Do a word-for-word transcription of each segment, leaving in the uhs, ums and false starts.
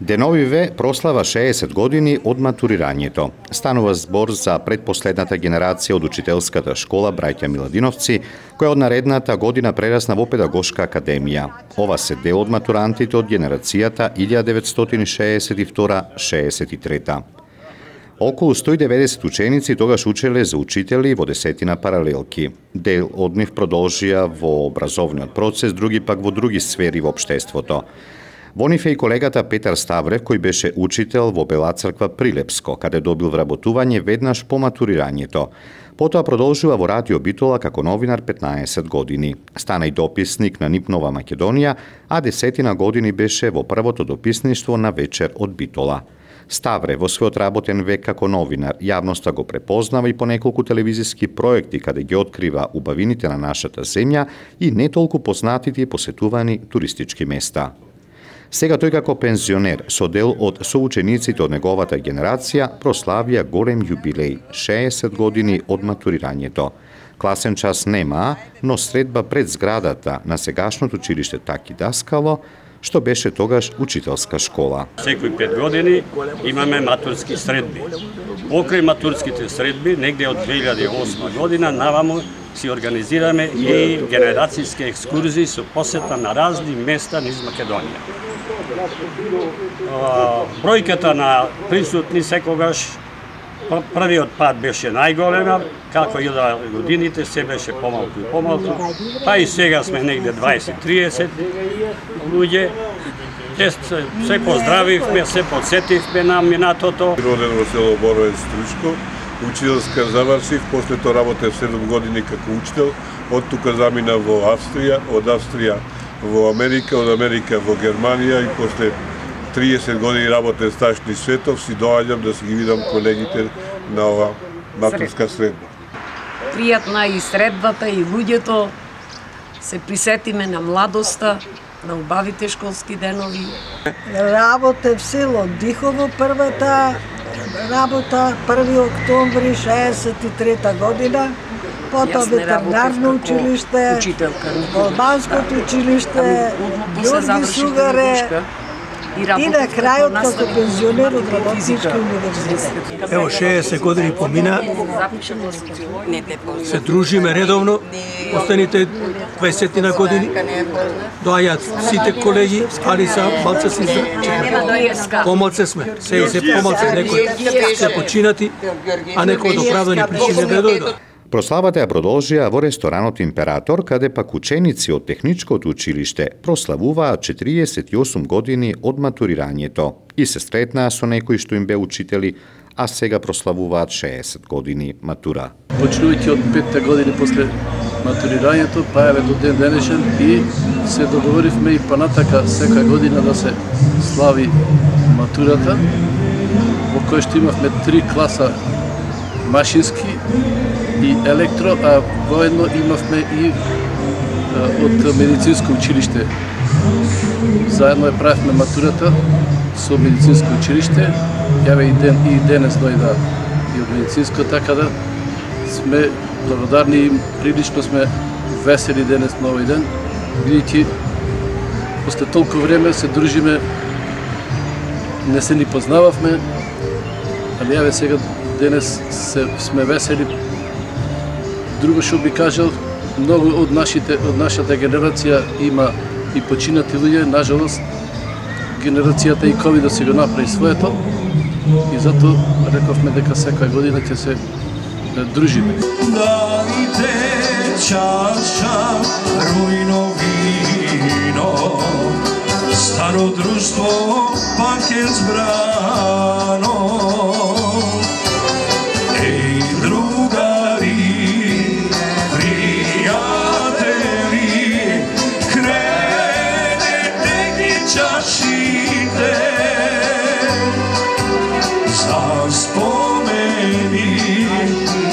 Деновиве прослава шеесет години од матурирањето. Станува збор за предпоследната генерација од учителската школа Браќа Миладиновци, која од наредната година прерасна во педагошка академија. Ова се дел од матурантите од генерацијата илјада деветстотини шеесет и втора - шеесет и трета. Околу сто и деветдесет ученици тогаш учеле за учители во десетина паралелки. Дел од нив продолжија во образовниот процес, други пак во други сфери во општеството. Во нив е и колегата Петар Ставрев, кој беше учител во Бела Црква Прилепско, каде добил вработување веднаш по матурирањето. Потоа продолжува во Радио Битола како новинар петнаесет години. Стана и дописник на НИП Нова Македонија, а десетина години беше во првото дописништво на Вечер од Битола. Ставре во својот работен век како новинар јавноста го препознава и по неколку телевизиски проекти каде ги открива убавините на нашата земја и не толку познатите и посетувани туристички места. Сега тој како пензионер со дел од соучениците од неговата генерација прославија голем јубилеј – шеесет години од матурирањето. Класен час нема, но средба пред зградата на сегашното училиште Таки Даскало, што беше тогаш учителска школа. Секои пет години имаме матурски средби. Покрај матурските средби, негде од две илјади и осма година, наваму си организираме и генерацијски екскурзии со посета на разни места низ Македонија. Бројката на присутни секогаш првиот пат беше најголема, како и да годините се беше помалку и помалку, па и сега сме негде дваесет до триесет луѓе. Се поздравивме, се подсетивме на минатото. Роден во село Боровец Стручко, учителска завршив, после тоа работев седум години како учител, од тука замина во Австрија, од Австрија во Америка, од Америка во Германија и после триесет години работен стаж низ светов си доаѓам да си ги видам колегите на ова матурска средба. Пријатна и средбата и луѓето, се присетиме на младоста, на убавите школски денови. Работев село Дихово првата работа, први октомври шеесет и трета година, потоа ветеринарно училиште, Албанското училиште, Ѓорги Сугаре и на крајот како пензионер од Работнички универзитет. Ево шеесет години помина, се дружиме редовно, останите дваесетина години, доаѓаат сите колеги, али са малце си помалце сме, се и се помалце, некои се починати, а некои од оправдани причини не дојдат. Прославата ја продолжија во ресторанот Император, каде пак ученици од техничкото училиште прославуваат четириесет и осум години од матурирањето и се стретнаа со некои што им бе учители, а сега прославуваат шеесет години матура. Почнувајќи од петта години после матурирањето, па еве до ден денешен и се договоривме и понатака секоја година да се слави матурата, во која што имавме три класа машински и електро, а воедно имавме и од медицинско училиште. Заедно ја правевме матурата со медицинско училиште. Јаве и ден и денес дојда и од медицинско, така да сме благодарни и прилично сме весели денес на овој ден, бидејќи после толку време се дружиме, не се ни познававме, али јаве сега денес се, сме весели. Друго што би кажал, многу од нашите од нашата генерација има и починати луѓе, нажалост генерацијата и ковид да се го направи своето и затоа рековме дека секоја година ќе се да дружиме. Дайте чаша рујно вино, старо друштво пак е збрано. Еј, другари, чашите за спомени,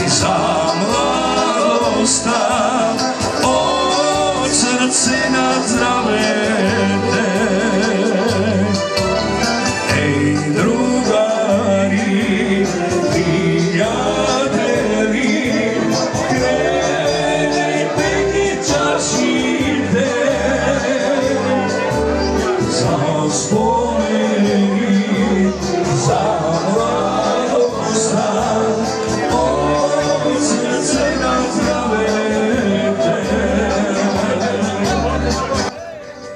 за младоста, од срце на здравете. Еј, другари,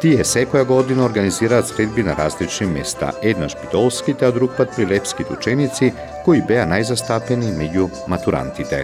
Тие секоја година организираат средби на различни места, еднаш битолските, а друг пат прилепските ученици, кои беа најзастапени меѓу матурантите.